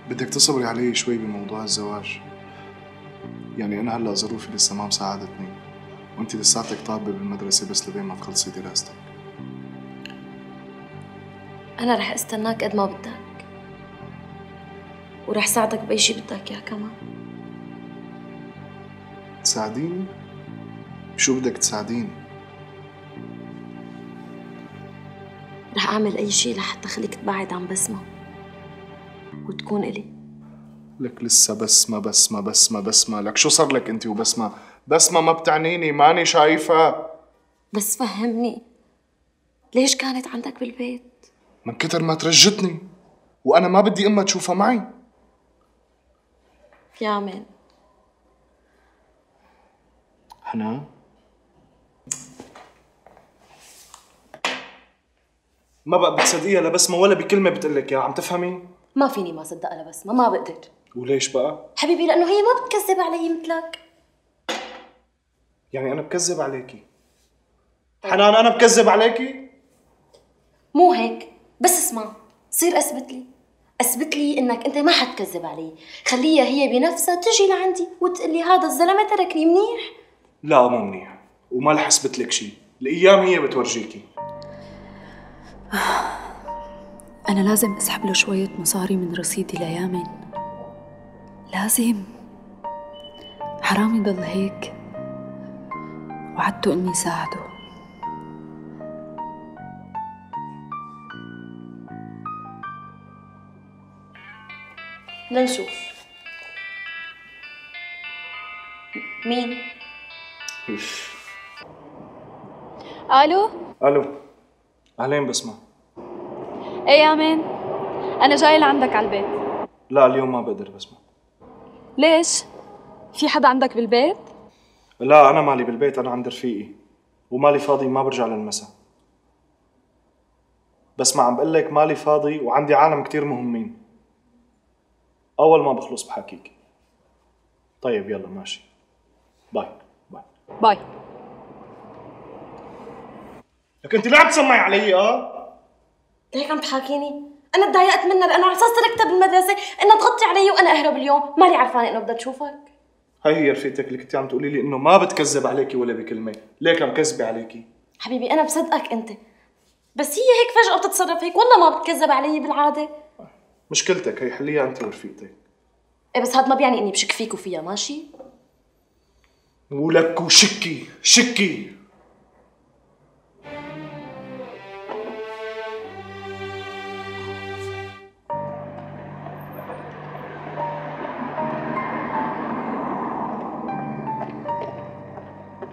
بدك تصبري علي شوي بموضوع الزواج. يعني أنا هلأ ظروفي لسه ما مساعدتني، وأنتِ لساتك طالبة بالمدرسة بس لبين ما تخلصي دراستك. أنا رح استناك قد ما بدك، ورح ساعدك بأي شي بدك إياه كمان. تساعديني؟ شو بدك تساعديني؟ رح أعمل أي شي لحتى خليك تبعد عن بسمة وتكون إلي. لك لسه بسمة بسمة بسمة بسمة، لك شو صار لك أنت وبسمة؟ بسمة ما بتعنيني، ماني شايفة. بس فهمني، ليش كانت عندك بالبيت؟ من كتر ما ترجتني، وأنا ما بدي أمها تشوفها معي. يا مان حنان، ما بقى بتصدقيها لبسمة ولا بكلمة بتقلك يا عم تفهمي؟ ما فيني ما صدقها لبسمة، ما بقدر. وليش بقى؟ حبيبي لأنه هي ما بتكذب علي مثلك. يعني أنا بكذب عليكي؟ حنان أنا بكذب عليكي؟ مو هيك، بس اسمع، صير اثبت لي انك انت ما حتكذب علي. خليها هي بنفسها تجي لعندي وتقول لي هذا الزلمه تركني منيح. لا مو منيح، وما رح اثبت لك شيء، الايام هي بتورجيكي. انا لازم اسحب له شويه مصاري من رصيدي ليامن، لازم. حرام يضل هيك. وعدته اني ساعده. لنشوف مين. الو. الو، اهلين بسمة. ايه يا مان، انا جاي لعندك على البيت. لا اليوم ما بقدر بسمة. ليش؟ في حدا عندك بالبيت؟ لا انا مالي بالبيت، انا عند رفيقي ومالي فاضي، ما برجع للمساء. بس ما عم بقول لك مالي فاضي وعندي عالم كتير مهمين، اول ما بخلص بحكيك. طيب يلا ماشي، باي باي باي. لك انت ليه عم تسمعي علي؟ ليك عم تحاكيني؟ انا تضايقت منها لانه على اساس تركتها بالمدرسه انها تغطي علي وانا اهرب اليوم، مالي عرفانه انه بدها تشوفك. هاي هي رفيقتك اللي كنتي عم تقولي لي انه ما بتكذب عليكي ولا بكلمه، ليك عم كذبي عليكي. حبيبي انا بصدقك انت، بس هي هيك فجأة بتتصرف هيك، والله ما بتكذب علي بالعاده. مشكلتك هي، حليها انت ورفيقتك. ايه بس هذا ما بيعني اني بشك فيك وفيها، ماشي؟ ولك وشكي شكي.